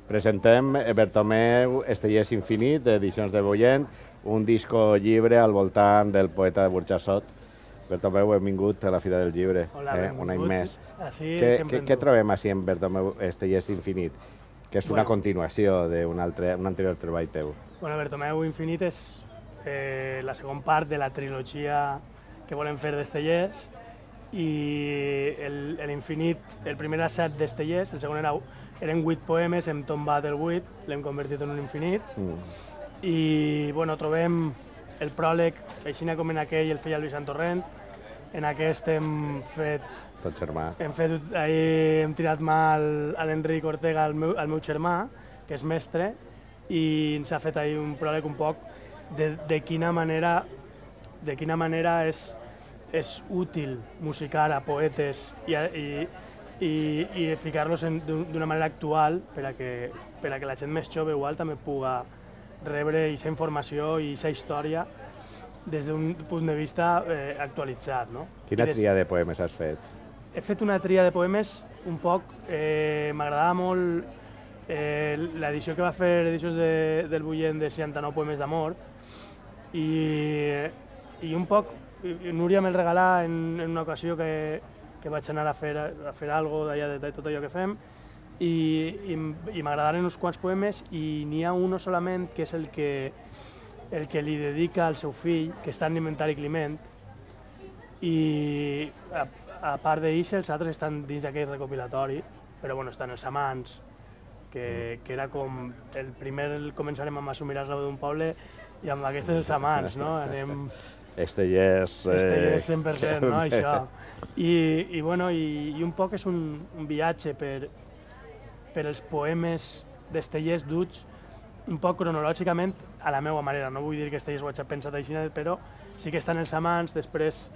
Presentem Bertomeu Estellés Infinit, d'Edicions de Boient, un disco llibre al voltant del poeta de Burjassot. Bertomeu, benvingut a la Fira del Llibre. Hola, benvingut. Un any més. Què trobem així en Bertomeu Estellés Infinit? Que és una continuació d'un anterior treball teu. Bertomeu Infinit és la segona part de la trilogia que volem fer d'Estellés, i l'Infinit, el primer era 7 d'Estellés, el segon eren 8 poemes, hem tombat el 8, l'hem convertit en un infinit, i trobem el pròleg, així com en aquell el feia el Vicent Torrent, en aquest hem fet... Tot germà. Hem tirat mà a l'Enric Ortega, el meu germà, que és mestre, i ens ha fet un pròleg un poc de quina manera és útil musicar a poetes i ficar-los d'una manera actual per a que la gent més jove igual també pugui rebre aquesta informació i aquesta història des d'un punt de vista actualitzat. Quina tria de poemes has fet? He fet una tria de poemes un poc... M'agradava molt l'edició que va fer Edicions del Bullent de 69 poemes d'amor, i un poc Núria me'l regalà en una ocasió que vaig anar a fer alguna cosa de tot allò que fem, i m'agradaren uns quants poemes, i n'hi ha un solament que és el que li dedica al seu fill, que està en l'Inventari Climent, i a part d'ells els altres estan dins d'aquest recopilatori, però estan els amants, que era com el primer començarem amb Assumiràs la veu d'un poble, i amb aquestes els amants, no? Anem... Estellés 100%, no? Això. I un poc és un viatge per els poemes d'Estellés duts un poc cronològicament a la meva manera. No vull dir que Estellés ho hagi pensat així, però sí que estan els amants, després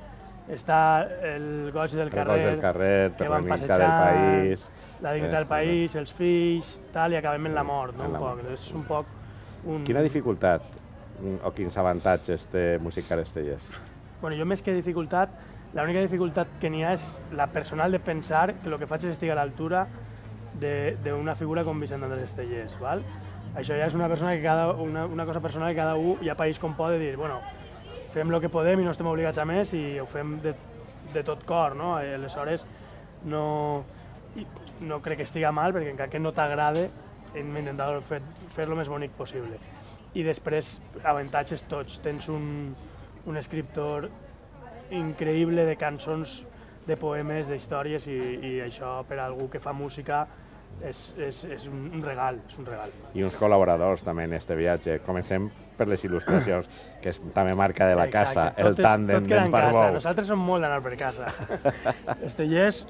està el goig del carrer, que van passejant, la dignitat del país, els fills, i acabem en la mort, és un poc... Quina dificultat o quins avantatges té musicar Estellés? Jo més que dificultat, l'única dificultat que n'hi ha és la personal de pensar que el que faig és estar a l'altura d'una figura com Vicent Andrés Estellés. Això ja és una cosa personal que cada un ja país com pot dir, fem el que podem i no estem obligats a més i ho fem de tot cor. Aleshores, no crec que estiga mal, perquè encara que no t'agrade, hem intentat fer-lo més bonic possible. I després, avantatges tots. Tens un escriptor increïble de cançons, de poemes, d'històries, i això per a algú que fa música és un regal. I uns col·laboradors també en aquest viatge. Comencem per les il·lustracions, que és també marca de la casa, el tàndem d'en Parbou. Nosaltres som molt d'anar per casa. Estellés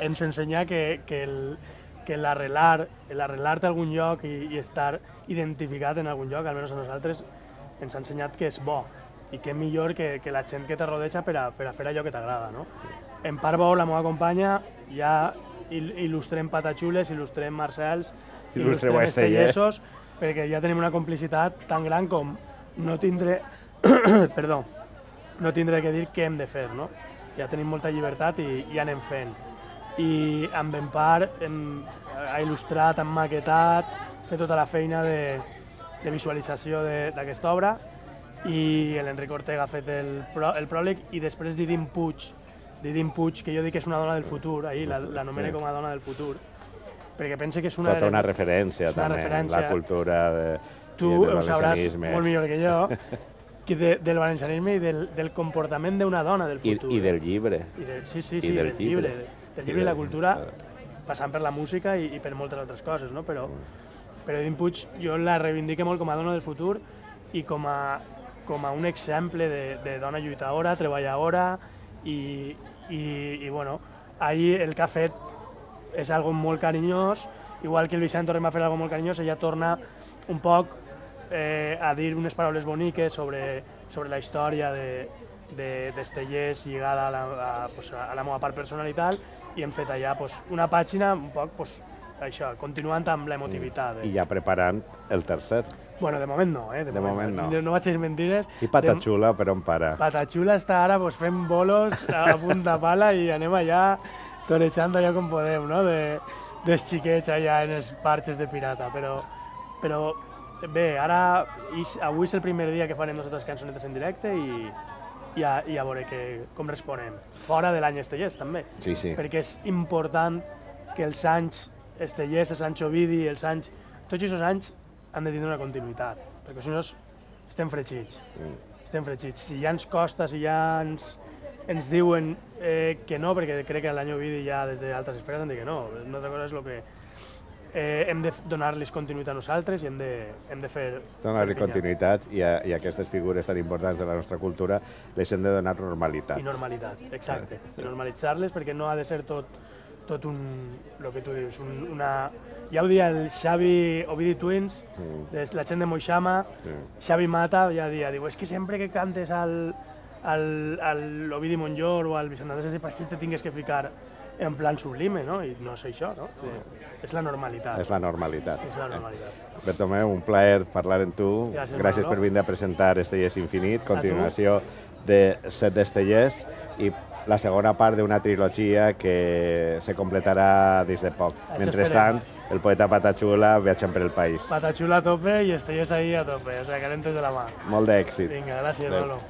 ens ensenya que l'arrelar-te a algun lloc i estar identificat en algun lloc, almenys a nosaltres, ens ha ensenyat que és bo, i que millor que la gent que te rodeja per a fer allò que t'agrada. En Parbou, la meva companya, ja il·lustrem Patachules, il·lustrem Marcels, il·lustrem Estellesos, perquè ja tenim una complicitat tan gran com no tindre que dir què hem de fer. Ja tenim molta llibertat i anem fent. I amb Empar ha il·lustrat, ha maquetat, fet tota la feina de visualització d'aquesta obra, i l'Enric Ortega ha fet el pròleg, i després Didim Puig, que jo dic que és una dona del futur, l'anomene com a dona del futur, perquè pense que és tota una referència també en la cultura tu ho sabràs molt millor que jo, del valencianisme i del comportament d'una dona del futur. I del llibre. Sí, del llibre i la cultura, passant per la música i per moltes altres coses, però Didim Puig jo la reivindique molt com a dona del futur i com a un exemple de dona lluitadora, treballadora, i ahir el que ha fet és algo molt carinyós, igual que el Vicent Torrent va fer algo molt carinyós, ella torna un poc a dir unes paraules boniques sobre la història d'Estellés lligada a la meva part personal i tal, i hem fet allà una pàgina un poc això, continuant amb l'emotivitat. I ja preparant el tercer. De moment no, de moment no. No vaig dir mentires. I Patachula per on para? Patachula està ara fent bolos a punta pala i anem allà torejant allò com podem, dels xiquets allà en els parxes de pirata, però bé, ara, avui és el primer dia que farem nosaltres cançonetes en directe i a veure com responem. Fora de l'any Estellers, també. Sí, sí. Perquè és important que els anys Estellers, els anys Ovidi, tots aquests anys han de tindre una continuïtat, perquè si no estem fregits. Estem fregits. Si ja ens costa, si ja ens diuen que no, perquè crec que l'any Ovidi ja des d'altres esferes han dit que no. Una altra cosa és el que hem de donar-los continuïtat a nosaltres i hem de fer... Donar-li continuïtat i aquestes figures tan importants de la nostra cultura les hem de donar normalitat. I normalitat, exacte. I normalitzar-les perquè no ha de ser tot el que tu dius, ja ho dia el Xavi Ovidi Twins, la gent de Moixama, Xavi Mata, ja diu, és que sempre que cantes al Ovidi Montllor o al Vicent Andrés, és que te tingues que ficar en plan sublime, no? I no és això, no? És la normalitat. És la normalitat. És la normalitat. Bertomeu, un plaer parlar amb tu. Gràcies per vindre a presentar Estellers Infinit, continuació de Set d'Estellers i la segona part d'una trilogia que se completarà dins de poc. Mentrestant, el poeta Patachula viatjant per el país. Patachula a tope i Estellers ahí a tope, o sigui, calentes de la mà. Molt d'èxit. Vinga, gràcies, Lolo.